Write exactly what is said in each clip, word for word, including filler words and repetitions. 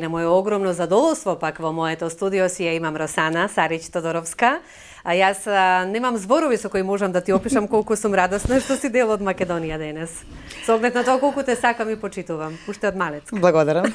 на моје огромно задоволство пак во моето студио си ја имам Росана Сарич Тодоровска. А јас а, немам зборови со кои можам да ти опишам колку сум радосна што си дел од Македонија денес. Со оглед на тоа колку те сакам и почитувам, уште од малец. Благодарам.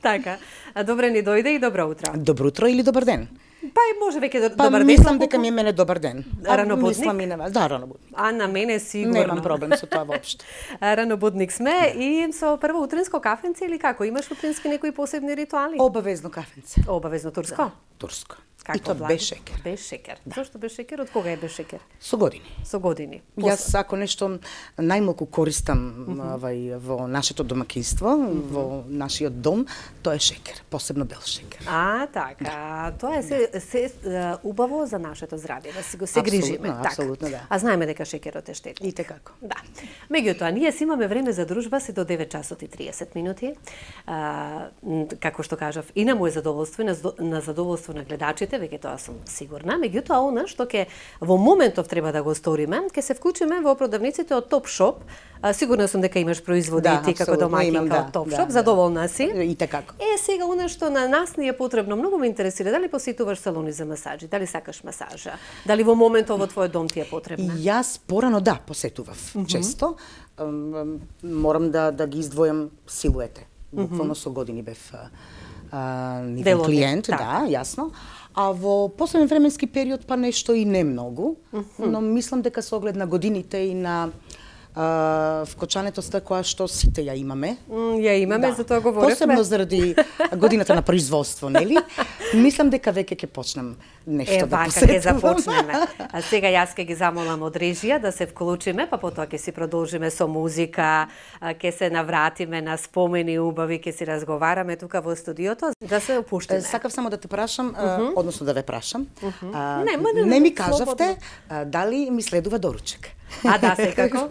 Така. А добре ни дојде и добро утро. Добро утро или добар ден? Па и може веќе до, па, добар ден. Мислам дека ми е мене добар ден. Ранобудник? Мислам и на вас. Да, ранобудник. А на мене сигурно. Немам проблем со тоа воопшто. Ранобудник сме и со прво утринско кафенце или како? Имаш утрински некои посебни ритуали? Обавезно кафенце. Обавезно турско? Да, турско. Како и то влаги? без шекер. Без шекер. Да. Зошто без шекер? Од кога е без шекер? Со години. Со години. После. Јас ако нешто најмалку користам mm -hmm. вај, во нашето домаќинство, mm -hmm. во нашиот дом, тоа е шекер, посебно бел шекер. А, така. Да. Тоа е се, се uh, убаво за нашето здравје, да си го се грижиме. Така. Апсолутно, да. А знаеме дека шекерот е штетен. И како. Да. Меѓутоа, ние си имаме време за дружба се до девет часот и триесет минути. А, како што кажав, и на моје задоволство и на, на задоволство на гледачите, веќе тоа сум сигурна. Меѓутоа, она што ќе во моментов треба да го сториме, ќе се вклучиме во продавниците од Топ Шоп. А, сигурна сум дека имаш производи да, ти како домаќинка да, од Топ да, Шоп, да, задоволна си. И така. Е, сега она што на нас ни е потребно, многу ме интересира, дали посетуваш салони за масаџи, дали сакаш масажа, дали во моментов во твојот дом ти е потребна? Јас порано да посетував mm -hmm. често. Морам да да ги издвојам силуете. Буквално со години бев нивен клиент, так. Да, јасно. А во последен временски период па нешто и не многу, mm -hmm. но мислам дека со оглед на годините и на Uh, вкочането која што сите ја имаме. Mm, ја имаме, да. За тоа говоревме. Посебно заради годината на производство, нели? Мислам дека веќе ќе почнем нешто е, да посетувам. Е, вака ќе започнеме. А сега јас ќе ги замолам од режија да се вклучиме, па потоа ќе си продолжиме со музика, ќе се навратиме на спомени убави, ќе си разговараме тука во студиото, да се опуштиме. Сакав само да те прашам, uh -huh. односно да ве прашам. Uh -huh. а, не, ма, не, не ми кажавте а, дали ми следува доручек. А да, секако.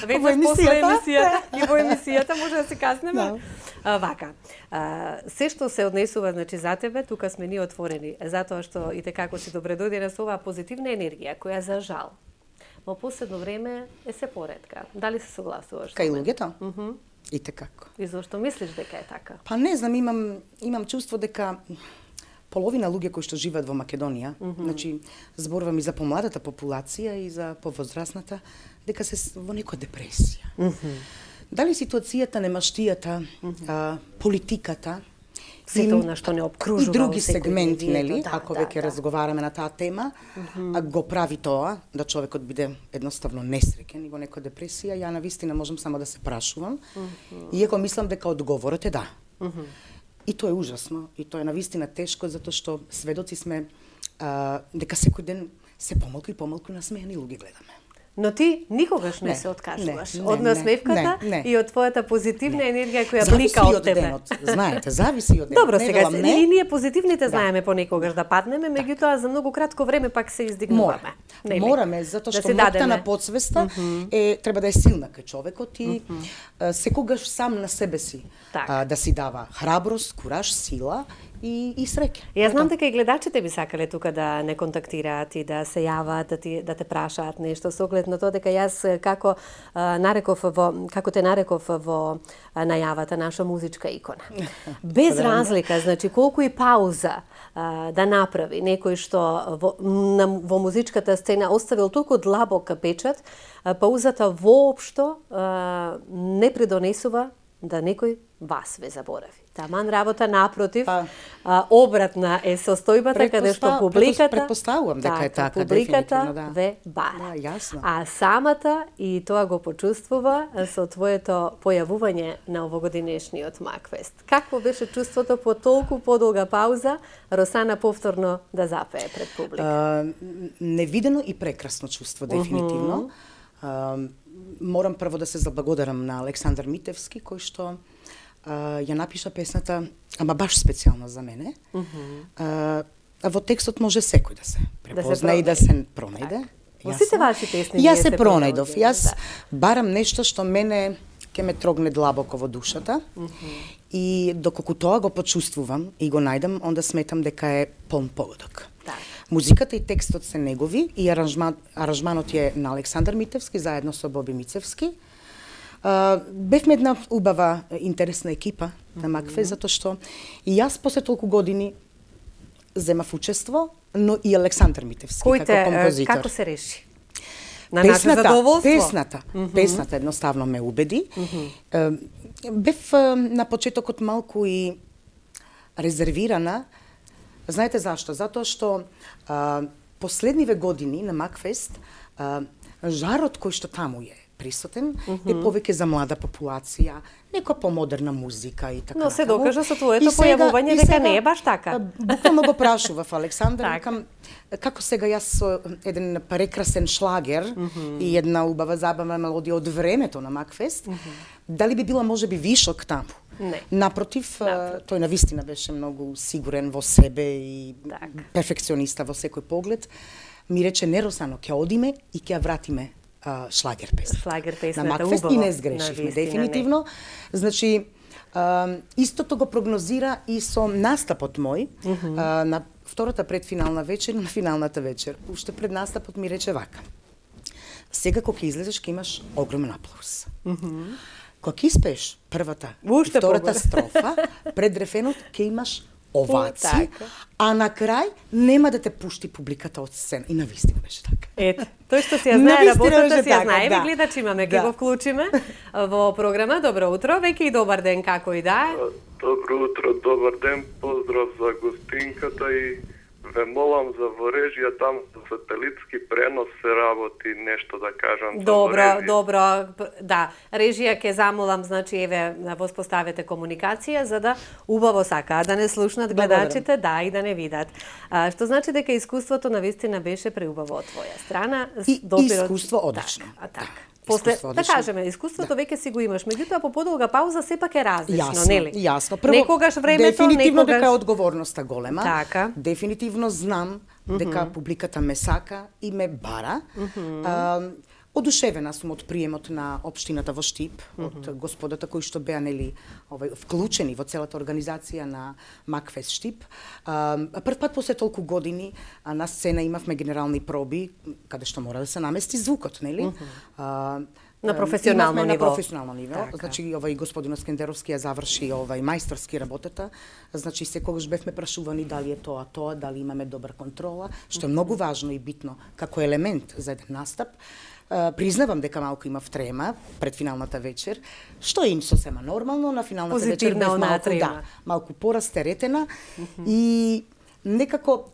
Во емисијата. И во емисијата може да се каснеме. Да. А, вака. А, се што се однесува значи за тебе, тука сме ние отворени, затоа што и како си добре дојде со оваа позитивна енергија која за жал во последно време е се поретка. Дали се согласуваш? Кај луѓето? Mm -hmm. И како. И зошто мислиш дека е така? Па не знам, имам имам чувство дека половина луѓе кои што живеат во Македонија, mm -hmm. значи зборувам и за помладата популација и за повозрасната, дека се во некоја депресија. Mm -hmm. Дали ситуацијата, немаштијата, mm -hmm. а, политиката, сето она што не обкружува и други сегменти, нели, да, ако да, веќе да. разговараме на таа тема, mm -hmm. го прави тоа да човекот биде едноставно несреќен и во некоја депресија. Ја навистина можам само да се прашувам, mm -hmm. иако мислам дека одговорот е да. Mm -hmm. И тоа е ужасно, и тоа е навистина тешко, затоа што сведоци сме а, дека секој ден се помалку и помалку насмејани луѓе гледаме. Но ти никогаш не, не се откажуваш не, не, од насмевката не, не. и од твојата позитивна не. енергија која зависи блика од тебе. Денот, знаете, зависи од денот. Добро, сега не, и ние позитивните знаеме да. понекогаш да паднеме, меѓутоа за многу кратко време пак се издигнуваме. Мора. Мораме, затоа што да ноќта на подсвеста mm -hmm. е треба да е силна кај човекот и mm -hmm. секогаш сам на себе си а, да си дава храброст, кураж, сила и, и среќа. Јас знам дека и гледачите би сакале тука да не контактираат и да се јават, да, ти, да те прашаат нешто со оглед на тоа дека јас како а, нареков во како те нареков во а, најавата наша музичка икона. Без разлика, значи колку и пауза а, да направи некој што во, на, во музичката сцена оставил толку длабок печат, а, паузата воопшто а, не придонесува да некој вас ве заборави. Таман работа напротив, па, а, обратна е состојбата каде што публиката предпоставувам дека е така, публиката да. ве бара. Да, јасно. А самата и тоа го почувствува со твоето појавување на овогодинешниот Макфест. Какво беше чувството по толку подолга пауза Росана повторно да запее пред публика? А, невидено и прекрасно чувство, дефинитивно. Uh -huh. Морам прво да се заблагодарам на Александар Митевски, кој што Uh, ја напиша песната, ама баш специјално за мене. Uh -huh. uh, а во текстот може секој да се препозна да се и да се пронајде. Во сите ваши песни Јас се пронајдов. Јас да. барам нешто што мене ќе ме трогне длабоко во душата. Uh -huh. И доколку тоа го почувствувам и го најдам, онда сметам дека е полн погодок. Да. Музиката и текстот се негови и аранжман, аранжманот е на Александар Митевски заедно со Боби Мицевски. А, бевме една убава, интересна екипа на Макфест, затоа што и јас после толку години земав учество, но и Александар Митевски Којте, како композитор. како се реши? На Песната, наше задоволство? Песната, mm -hmm. песната едноставно ме убеди. Mm -hmm. Бев на почетокот малку и резервирана. Знаете зашто? Затоа што а, последниве години на Макфест а, жарот кој што таму е присутен mm -hmm. е повеќе за млада популација, нека помодерна музика и така. Но се натаму. докажа со твоето појавување дека не е баш така. Буквално го прашував Александар, викам како сега јас со еден прекрасен шлагер mm -hmm. и една убава забавна мелодија од времето на Макфест, mm -hmm. дали би била можеби вишок таму? Не. Напротив, Напротив, тој навистина беше многу сигурен во себе и так. перфекциониста во секој поглед. Ми рече, не Росано, ќе одиме и ќе ја вратиме Uh, шлагер песната. Шлагер песната, на Макфест и не сгрешивме, дефинитивно. Не. Значи, uh, истото го прогнозира и со настапот мој, mm -hmm. uh, на втората предфинална вечер, на финалната вечер. Уште пред настапот ми рече вака. Сега кога ќе излезеш, ќе имаш огромен аплауз. Mm -hmm. Кога ќе испееш првата и втората строфа, пред рефенот ќе имаш овации, а на крај нема да те пушти публиката од сцена. И навистина беше така. Ето, тој што си ја знае работата, си ја знае. Да. Гледачи имаме, ќе го вклучиме во програма. Добро утро, веќе и добар ден, како и да е. Добро утро, добар ден, поздрав за гостинката и ве молам за во режија, там за сателитски пренос се работи нешто да кажам. Добро, добро, да. Режија ќе замолам, значи еве да воспоставите комуникација за да убаво сака да не слушнат гледачите, да и да не видат. А, што значи дека искуството навистина беше преубаво од твоја страна. И допирот... искуство одлично. Так, так. После, да кажеме, искуството да. веќе си го имаш, меѓутоа по подолга пауза сепак е различно, јасно, нели? Јасно. Прво, некогаш времето, дефинитивно некогаш... дека е одговорноста голема. Така. Дефинитивно знам mm -hmm. дека публиката ме сака и ме бара. Mm -hmm. а, одушевена сум од приемот на општината во Штип, mm -hmm. од господата кои што беа нели овај вклучени во целата организација на Макфест Штип. А, прв пат после толку години а, на сцена имавме генерални проби каде што мора да се намести звукот, нели? Mm -hmm. а, на професионално ниво. На професионално ниво. Така. Значи овај господинот Скендеровски ја заврши овај мајсторски работата. Значи секогаш бевме прашувани дали е тоа тоа, дали имаме добра контрола, што е многу важно и битно како елемент за еден настап. Uh, признавам дека малку имав трема пред финалната вечер, што е им сосема нормално, на финалната вечер бев малку, да, малку порастеретена mm -hmm. и некако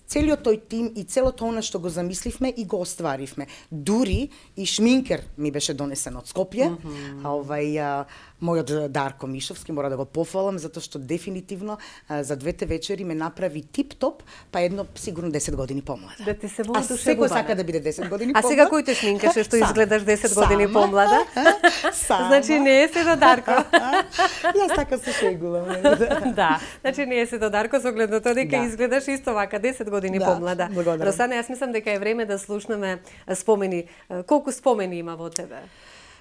целиот тој тим и целото она што го замисливме и го остваривме. Дури и шминкер ми беше донесен од Скопје, mm -hmm. а овај а, мојот Дарко Мишовски, мора да го пофалам, затоа што дефинитивно а, за двете вечери ме направи тип-топ, па едно сигурно десет години помлада. Да ти се а секој сака да биде десет години помлада. А сега кој те шминкаше што изгледаш десет години помлада? Значи не е се до Дарко. Јас така се шегувам. Да, значи не е се до Дарко, со оглед на тоа дека да. изгледаш исто вака десет години да, помлада. Благодарам. Росана, јас мислам дека е време да слушнеме спомени. Колку спомени има во тебе?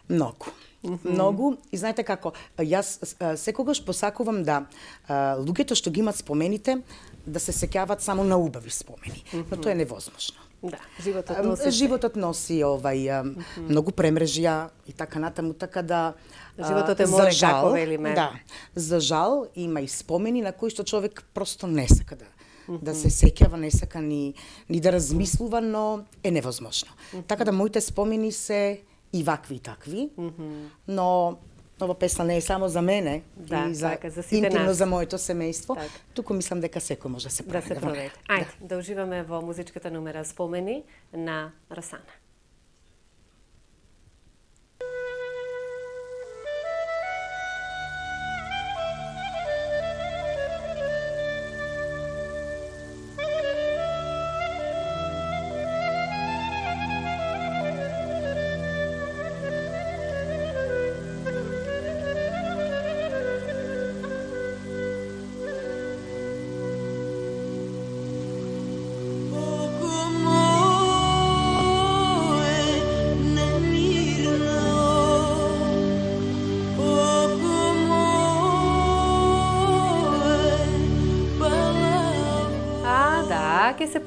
Многу. Mm -hmm. Многу. И знаете како, јас секогаш посакувам да луѓето што ги имат спомените да се сеќаваат само на убави спомени. Mm -hmm. Но тоа е невозможно. Да, животот носи. Животот носи овај mm -hmm. многу премрежја и така натаму, така да животот е море, жал, како велиме. Да. За жал има и спомени на кои што човек просто не сака да Mm -hmm. да се сеќава, не сака ни, ни да размислува, но е невозможно. Mm -hmm. Така да моите спомени се и вакви и такви, mm -hmm. но ова песна не е само за мене, да, и за, така, за интимно нас. за моето семејство, так. туку мислам дека секој може да се проведе. Да се проведе. Ајде, да. да уживаме во музичката номера Спомени на Росана. Oh,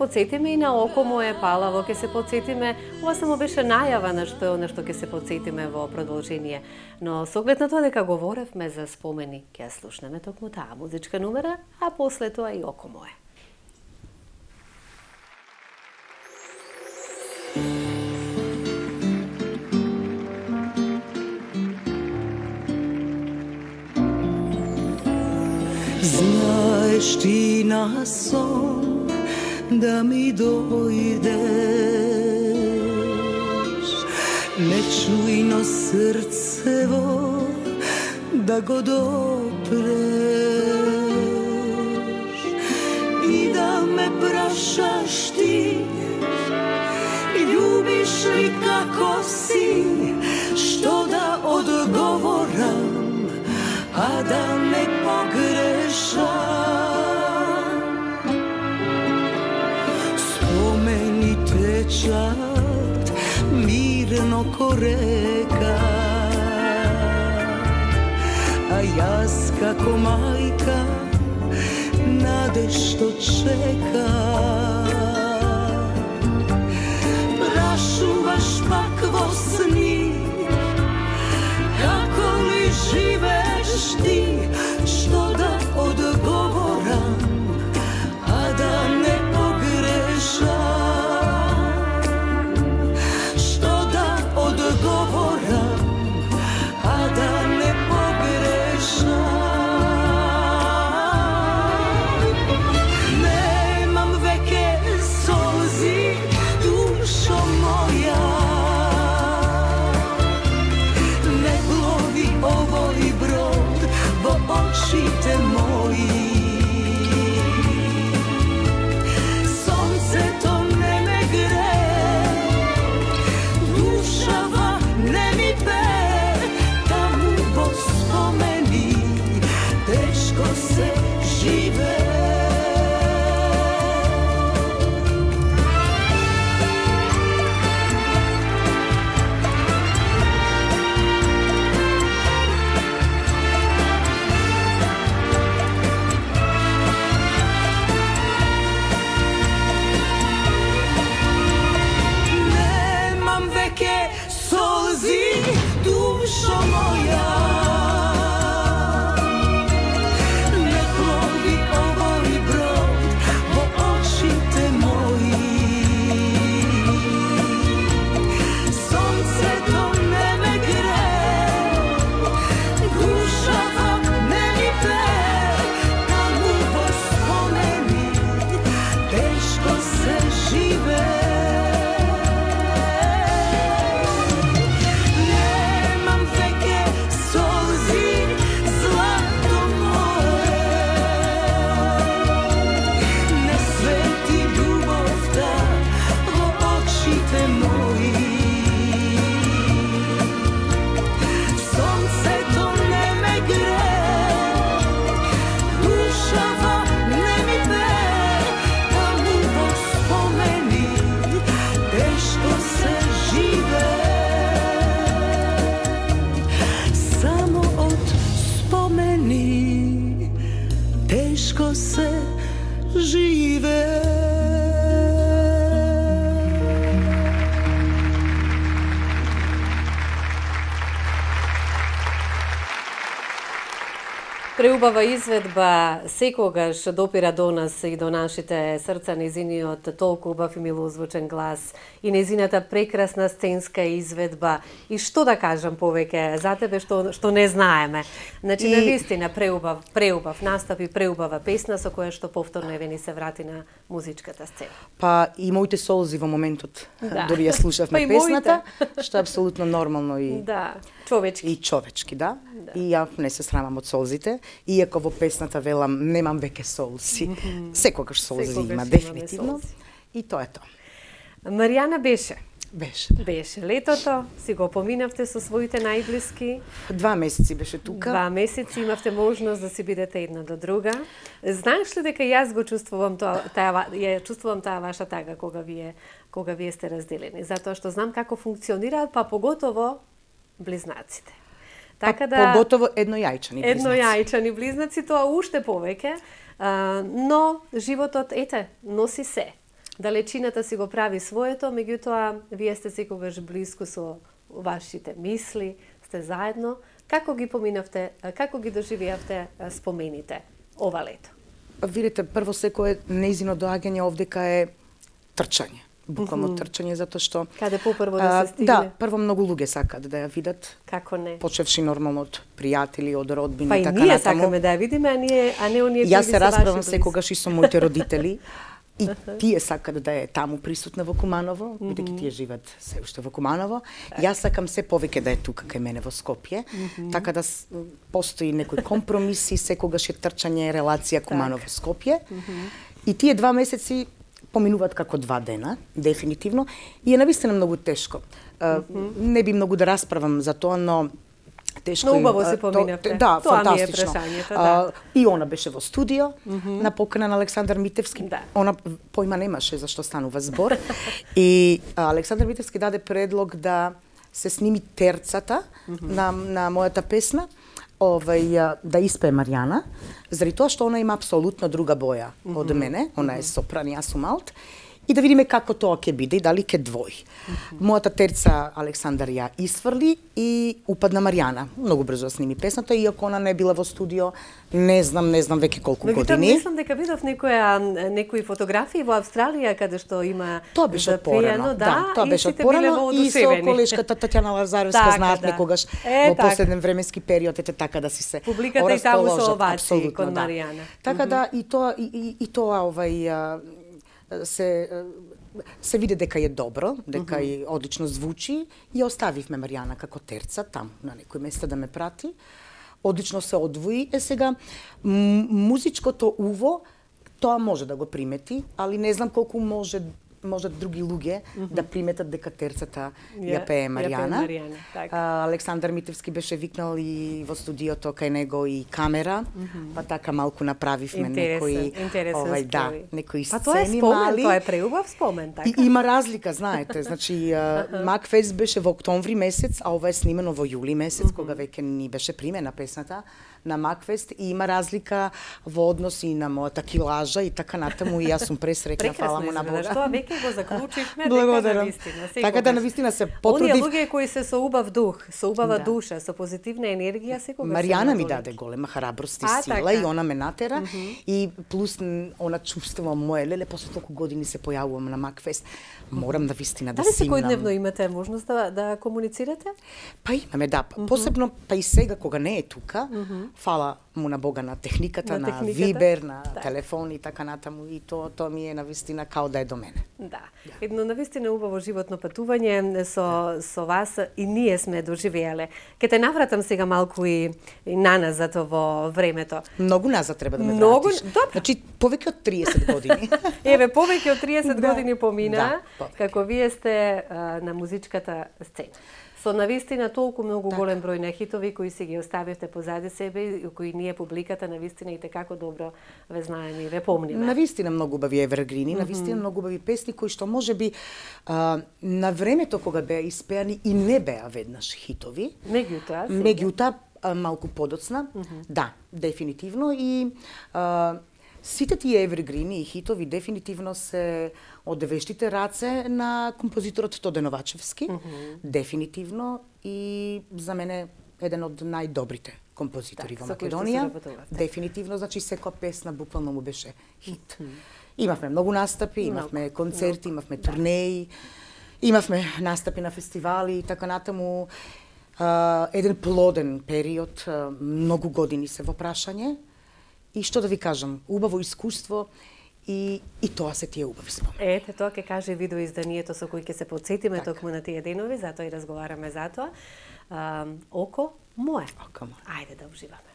подсетиме и на Око мое палаво, ќе се подсетиме, ова само беше најава на што на што ќе се подсетиме во продолжение. Но со оглед на тоа дека говоревме за спомени, ќе ја слушнеме токму таа музичка номера, а после тоа и Око мое. Знаеш ти на сон да ми дојдеш, нечујно срцево да го допреш и да ме прашаш ти, љубиш ли како си, што да одговорам, а да не погрешам. Спомени течат мирно ко река, а јас како мајка надешто чека. Прашуваш пак во сни, како ли живееш ти, што да одговорам, а да не погрешам. Што да одговорам, а да не погрешам. Немам веќе солзи, душо моја, не плови овој брод во очите мои. Сонцето не ме грее, душава не ми пее, таму во спомени тешко се живее. Немам веќе солзи, душо моја, не плови овој брод во очите мои. Сонцето не ме грее, душава не ми пее, таму во спомени тешко се живее. Немам веќе солзи, злато мое, не свети љубовта во очите мои. Сонцето не ме грее, душава не ми пее, таму во спомени тешко се живее. Само од спомени тешко се живее. Преубава изведба секогаш допира до нас и до нашите срца, незиниот толку убав и милозвучен глас и незината прекрасна сценска изведба. И што да кажам повеќе за тебе што што не знаеме. Значи И- навистина преубав, преубав настап и преубава песна со која што повторно еве ни се врати на музичката сцена. Па и моите солзи во моментот, Да. дори ја слушавме Па и песната, што е апсолутно нормално и Да, човечки. и човечки, да. И ја не се срамам од солзите, иако во песната велам немам веќе солзи. Секогаш солзи Секогаш има, имаме дефинитивно. солзи. И тоа е тоа. Маријана беше. Беше. Беше летото, си го поминавте со своите најблиски. Два месеци беше тука. Два месеци имавте можност да си бидете една до друга. Знаеш ли дека јас го чувствувам тоа, таа ја чувствувам таа ваша тага кога вие кога вие сте разделени, затоа што знам како функционираат, па поготово близнаците. Така да поготово еднојајчани близнаци. Еднојајчани близнаци, тоа уште повеќе, а, но животот ете носи се. далечината си го прави своето, меѓутоа вие сте секогаш блиску со вашите мисли, сте заедно. Како ги поминавте, како ги доживеавте спомените ова лето? Видите, прво секое неизино доаѓање овдека е трчање. Буквално mm -hmm. трчање, затоа што... Каде попрво да се стигне? Да, прво многу луѓе сакаат да ја видат. Како не? Почевши нормално од пријатели, од родбини, па и така ние натаму. сакаме да ја видиме, а, ние, а не оние Јас се расправам секогаш и со моите родители. И тие сакат да е таму присутна во Куманово, бидејќи mm -hmm. тие живеат се уште во Куманово. Јас сакам се повеќе да е тука кај мене во Скопје, mm -hmm. така да постои некој компромис и секогаш е трчање релација Куманово-Скопје. Mm -hmm. И тие два месеци поминуваат како два дена, дефинитивно, и е навистина многу тешко. Mm -hmm. Не би многу да расправам за тоа, но тешко. Но убаво се поминавте. То, да, тоа фантастично. Ми е прашањето, да. И она беше во студио, mm -hmm. на покана на Александар Митевски. Да. Она појма немаше за што станува збор. И а, Александар Митевски даде предлог да се сними терцата mm -hmm. на, на мојата песна, овај, да испее Маријана, заради тоа што она има апсолутно друга боја mm -hmm. од мене, она е сопран, јас сум алт, и да видиме како тоа ќе биде и дали ќе двои. Mm -hmm. Мојата терца Александар ја исфрли и упадна Маријана. Многу брзо сними песната, иако она не била во студио, не знам, не знам веќе колку Но, години. Но мислам дека видов некоја некои фотографии во Австралија каде што има тоа беше порано, да, да, тоа беше од порано и со колешката Татјана Лазаревска така, знаат да. некогаш е, во така. последен временски период ете така да си се публиката и таму со овации кон Маријана. Така mm -hmm. да и тоа и, и, и тоа овај се се види дека е добро, дека mm -hmm. и одлично звучи и оставивме Маријана како терца таму на некој место да ме прати. Одлично се одвои. Е сега музичкото уво тоа може да го примети, али не знам колку може може други луѓе mm -hmm. да приметат дека терцата ја, ја пее Маријана. Ја пее Маријана, така. А, Александар Митевски беше викнал и во студиото кај него и камера, mm -hmm. па така малку направивме некои овај да, некои сцени па тоа е спомен, мали. Тоа е преубав спомен, така. И има разлика, знаете, значи Макфест беше во октомври месец, а ова е снимено во јули месец, mm -hmm. кога веќе ни беше примена песната на Макфест и има разлика во односи на мојата килажа и така натаму и јас сум пресреќна, фала му на Бога. Тоа веќе го заклучивме дека навистина. Така да навистина се потрудив. Оние луѓе кои се со убав дух, со убава да. душа, со позитивна енергија, секогаш Маријана ми даде голема храброст и а, сила така. и она ме натера mm -hmm. и плюс она чувствувам моје леле после толку години се појавувам на Макфест. Морам да вистина да симнам. Дали секојдневно имате можност да, да комуницирате? Па имаме, да. Mm -hmm. Посебно, па и сега кога не е тука, mm -hmm. фала му на Бога на техниката, на, на техниката? Вибер, на да. телефон и така натаму и тоа тоа ми е навистина као да е до мене. Да. да. Едно навистина убаво животно патување со да. со вас и ние сме доживеале. Ке те навратам сега малку и, и наназад во времето. Многу назад треба да ме Многу... вратиш. Добро. Значи повеќе од триесет години. Еве, повеќе од триесет да. години помина, да, како вие сте а, на музичката сцена. Со навистина толку многу так. голем број на хитови кои си ги оставивте позади себе и кои ние публиката навистина и како добро ве знаеме и ве помниме. Навистина многу убави евергрини, mm -hmm. навистина многу убави песни кои што можеби а, на времето кога беа испеани и не беа веднаш хитови. Меѓутоа, меѓутоа малку подоцна. Mm -hmm. Да, дефинитивно и а, сите тие евергрини и хитови дефинитивно се од вештите раце на композиторот Тоде Новачевски, mm -hmm. дефинитивно и за мене еден од најдобрите композитори так, во Македонија. Дефинитивно, значи секоја песна буквално му беше хит. Mm -hmm. Имавме многу настапи, имавме много, концерти, много. имавме турнеи, имавме настапи на фестивали и така натаму. Uh, еден плоден период, uh, многу години се во прашање. И што да ви кажам, убаво искуство и и тоа се тие убави спомени. Ете, тоа ќе каже видеоизданието со кој ќе се потсетиме так. токму на тие денови, затоа и разговараме за тоа. Uh, око мое. Око мое. Ајде да уживаме.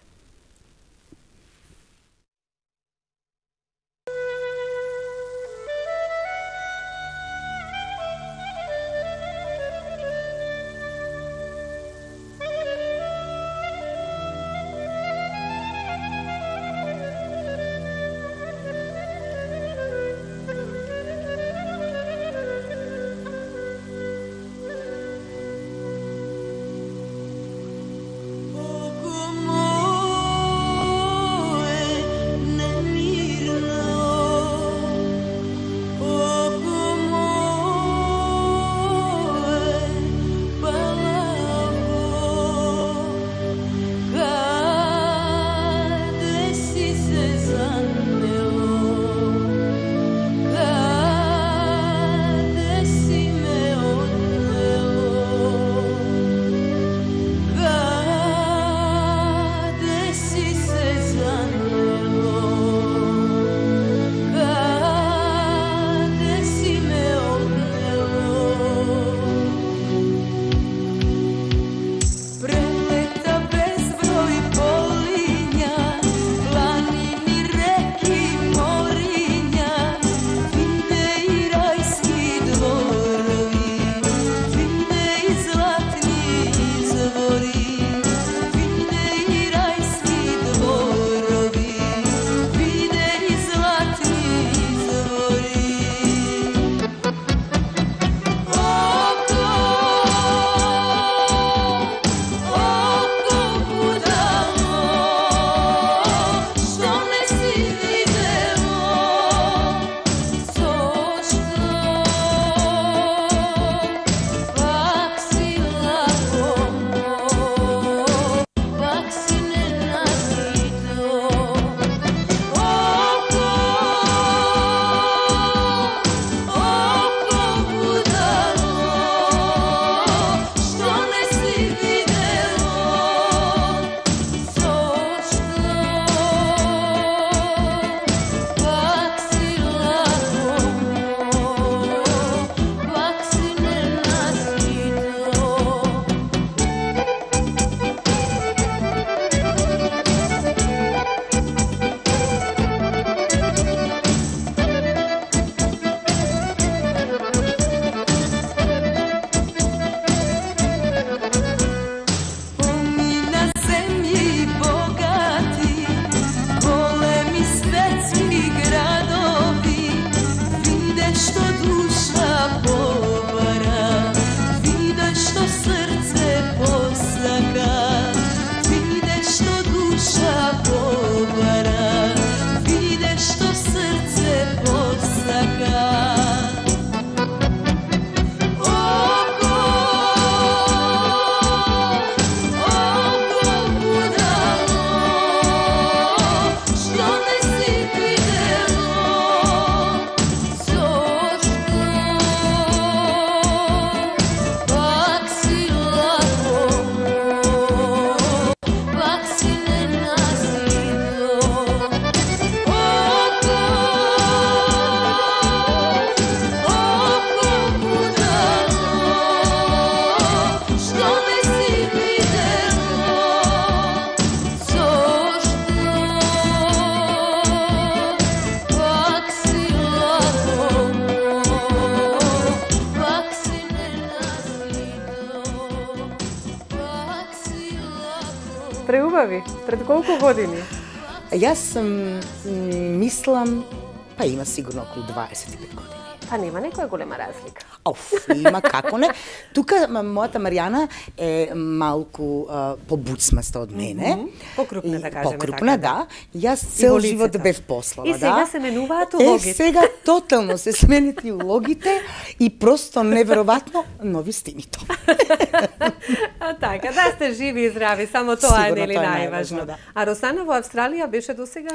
Como убави. Пред колку години? Јас сум, мислам, па има сигурно околу дваесет и пет години. Па нема некоја голема разлика. Оф, има како не. Тука мојата Маријана е малку а, побуцмаста од мене. Mm -hmm. Покрупна, да кажеме. Покрупна, така, да. Јас цел живот бев послава, и да. И сега се менуваат улогите. Е, сега тотално се сменят и улогите и просто неверојатно нови стимито. А така, да сте живи и здрави, само тоа Сигурно, е нели тоа е најважно. најважно, да. А Росана во Австралија беше досега?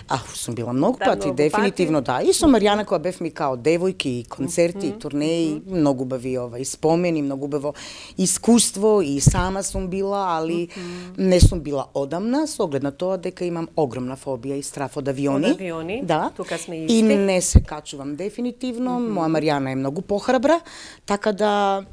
А, сум била многу Да, пати, многу дефинитивно да. И со Маријана која бев ми као девојки, и концерти, и турнеи, многу убави ова и спомени, многу убаво искуство и сама сум била, али не сум била одамна, со оглед на тоа дека имам огромна фобија и страф од авиони. Од авиони, да. Тука сме И исти. не се качувам дефинитивно, моја Маријана е многу похрабра, така да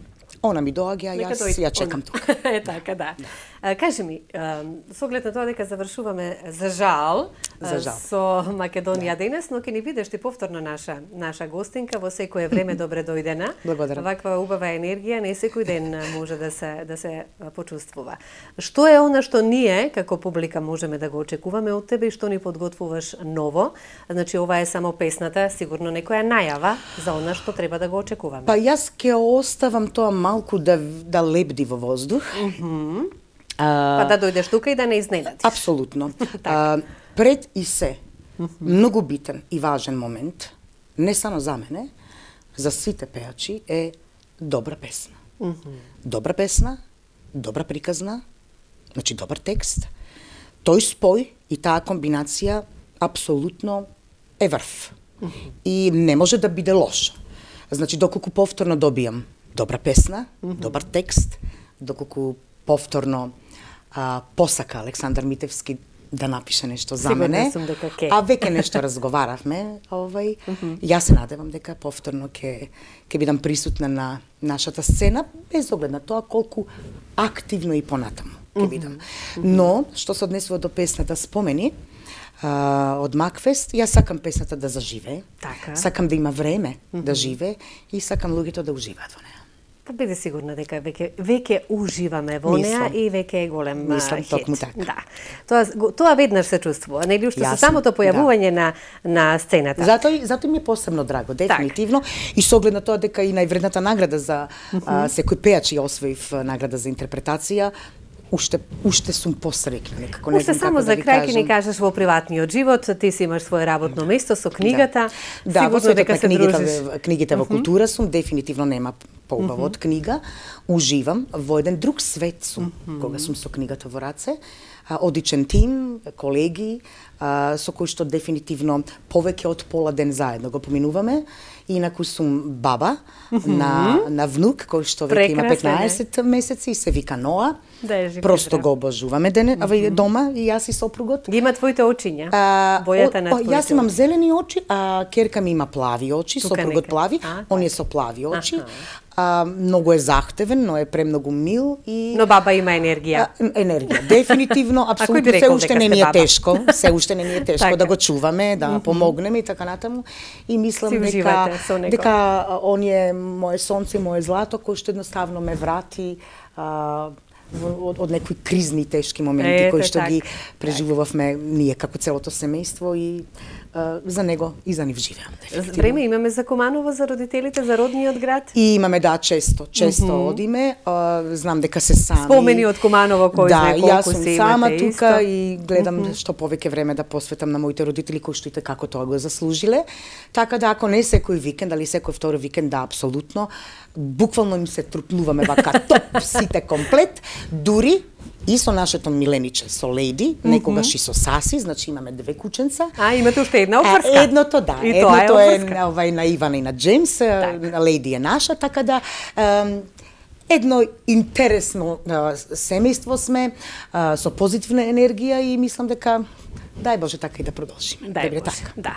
она ми доаѓа, Нека јас дојде. ја чекам тука. Е така, да. А, кажи ми, а, со оглед на тоа дека завршуваме за жал, За жал. со Македонија денес, но ќе ни бидеш ти повторно наша наша гостинка во секое време, добре дојдена. Благодарам. Ваква убава енергија не секој ден може да се да се почувствува. Што е она што ние како публика можеме да го очекуваме од тебе и што ни подготвуваш ново? Значи ова е само песната, сигурно некоја најава за она што треба да го очекуваме. Па јас ќе оставам тоа малку да да лебди во воздух. Па да дојдеш тука и да не изненадиш. Апсолутно. а, пред и се, многу битен и важен момент, не само за мене, за сите пеачи, е добра песна. Добра песна, добра приказна, значи добар текст, тој спој и таа комбинација апсолутно е врв. И не може да биде лошо. Значи, доколку повторно добијам добра песна, добар текст, доколку повторно а, посака Александар Митевски да напише нешто за Сигурна мене, сум дека ќе. а веќе нешто разговаравме, овај, јас се надевам дека повторно ќе ќе бидам присутна на нашата сцена, без оглед на тоа колку активно и понатаму ќе бидам. Но, што се однесува до песната Спомени, а, од Макфест, јас сакам песната да заживее, Така. сакам да има време да живее и сакам луѓето да уживаат во неа. Па биде сигурна дека веќе веќе уживаме во неа Мислам. и веќе е голем Мислам хит. токму така. Да. Тоа го- тоа веднаш се чувствува, нели уште со Јасно, самото појавување на на сцената. Затоа затоа ми е посебно драго, дефинитивно, и со оглед на тоа дека и највредната награда за а, секој пеач ја освоив а, награда за интерпретација, уште уште сум посрекна, некако не Уште знам само како за да ви крај ќе ни кажам. кажеш во приватниот живот, ти си имаш свое работно место со книгата. Да, во Сигурно светот дека на се книгите, дружиш. книгите во култура сум, дефинитивно нема поубаво од книга. Уживам во еден друг свет сум, кога сум со книгата во раце. А, одичен тим, колеги, а, со кои што дефинитивно повеќе од пола ден заедно го поминуваме. Инаку сум баба на, на внук, кој што веќе има Прекрасен е. петнаесет месеци и се вика Ноа. Да е жив и Просто здрав. го обожуваме дене, mm дома, и јас и сопругот. Ги има твоите очиња. А, Бојата о- на о, твоите Јас имам очи. зелени очи, а керка ми има плави очи, Тука сопругот нека. плави, А, он е така. со плави очи. Аха. А, многу е захтевен, но е премногу мил и Но баба има енергија. а, енергија. Дефинитивно, кој би апсолутно се рекол уште дека не сте ни е баба? тешко, се уште не ни е тешко Така. да го чуваме, да помогнеме и така натаму. И мислам Си дека уживате со него. дека а, он е моje сонце, моje злато, кој што едноставно ме врати а, во- од, од некои кризни и тешки моменти Ете кои што така. ги преживувавме ние како целото семејство и а, за него и за нив живеам. дефинитивно. Време имаме за Куманово, за родителите, за родниот град. И имаме, да, често, често mm -hmm. одиме, а, знам дека се сами. Спомени од Куманово, кој да, знае јас колку сум се сама имате тука исто. и гледам mm -hmm. што повеќе време да посветам на моите родители кои што и како тоа го заслужиле. Така да ако не секој викенд, али секој втори викенд, да, апсолутно, буквално им се трупнуваме вака топ сите комплет, дури и со нашето милениче, со Лејди, некогаш и со Саси, значи имаме две кученца. А, имате уште една А, обврска. едното, да, И тоа е едното е, обврска. на, овај, на Ивана и на Джеймс, на Лејди е наша, така да ем, едно интересно а, семејство сме, а, со позитивна енергија и мислам дека дај Боже така и да продолжиме. Дај Добре, Боже, така. да.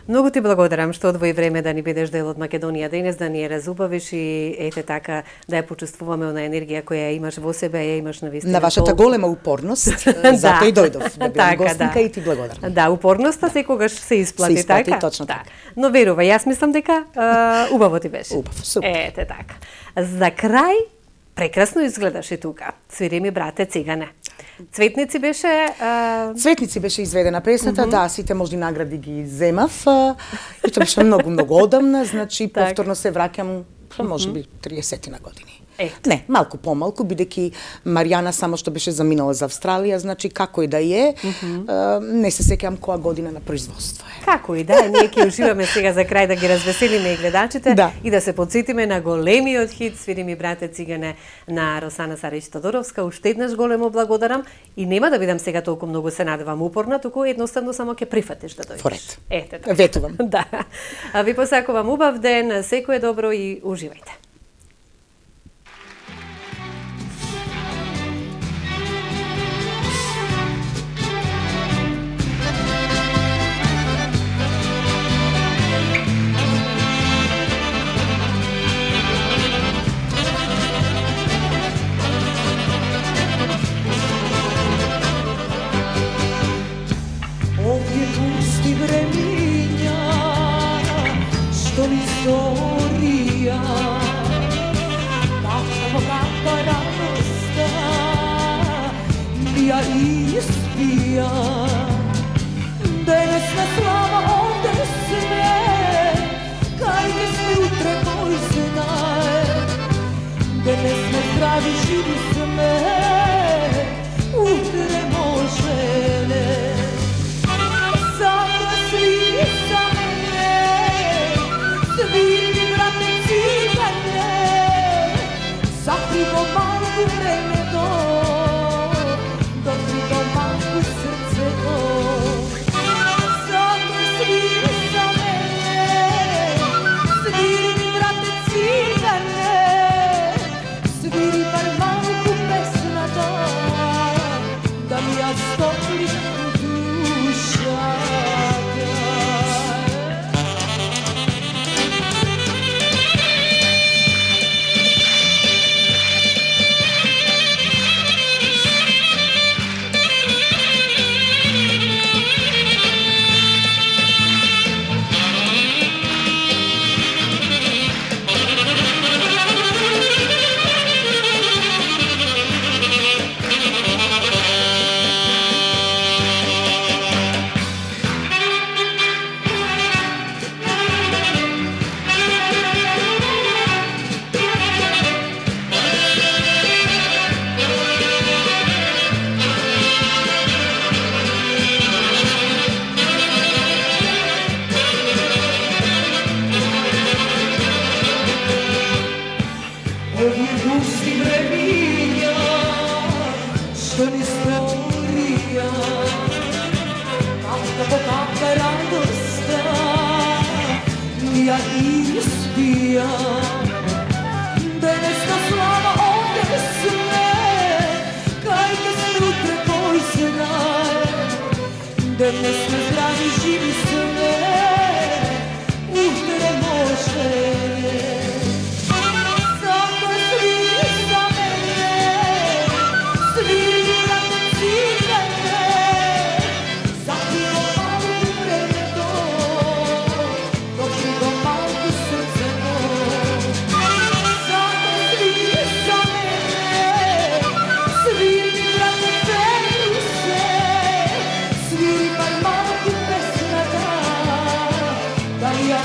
Многу ти благодарам што одвои време да ни бидеш дел од Македонија денес, да ни ја разубавиш и ете така да ја почувствуваме она енергија која ја имаш во себе, ја имаш на вистина. На вашата толку. голема упорност, затоа и дојдов да бидам гостинка и ти благодарам. Да, упорноста секогаш се исплати, Се исплати, така? точно да. така. Но верувај, јас мислам дека а, убаво ти беше. Убаво, супер. Ете така. За крај прекрасно изгледаш и тука. Свири ми брате цигане. Цветници беше... А... Цветници беше изведена песната, mm -hmm. да, сите можни награди ги земав. А, и тоа беше многу, многу одамна, значи так. Повторно се враќам, може би, триесет на години. Е. Не, малку помалку, бидејќи Маријана само што беше заминала за Австралија, значи како и да е, mm -hmm. а, не се сеќавам која година на производство е. Како и да е, ние ќе уживаме сега за крај да ги развеселиме и гледачите да. И да се подсетиме на големиот хит "Свири ми брате цигане" на Росана Сарич Тодоровска. Уште еднаш големо благодарам и нема да бидам сега толку многу се надевам упорна, туку едноставно само ќе прифатиш да дојдеш. Форет. Ете така. Ветувам. Да. А ви посакувам убав ден, секое добро и уживајте. Ovdje pusti vreminja, što li storija, kako kakva radosta, bija ispija. Денесна слава овде све, кај ќе сме утре кој знае. Денес сме здрави, живи сме, утре може не. Zato sviri za mene, sviri mi brate cigane, zakrivo malku vreme do, dokrivo malku srce do. Zato sviri za mene, sviri mi brate cigane, sviri bar malku pesna da, da mi ja stoplim duša. Денес сме здрави, живи сме, утре може не. Zato sviri za mene, sviri brate cigane, zakrivo malku vreme do, dokrivo malku srce do. Zato sviri za mene, sviri brate penuse, sviri bar malku pesna da, da ja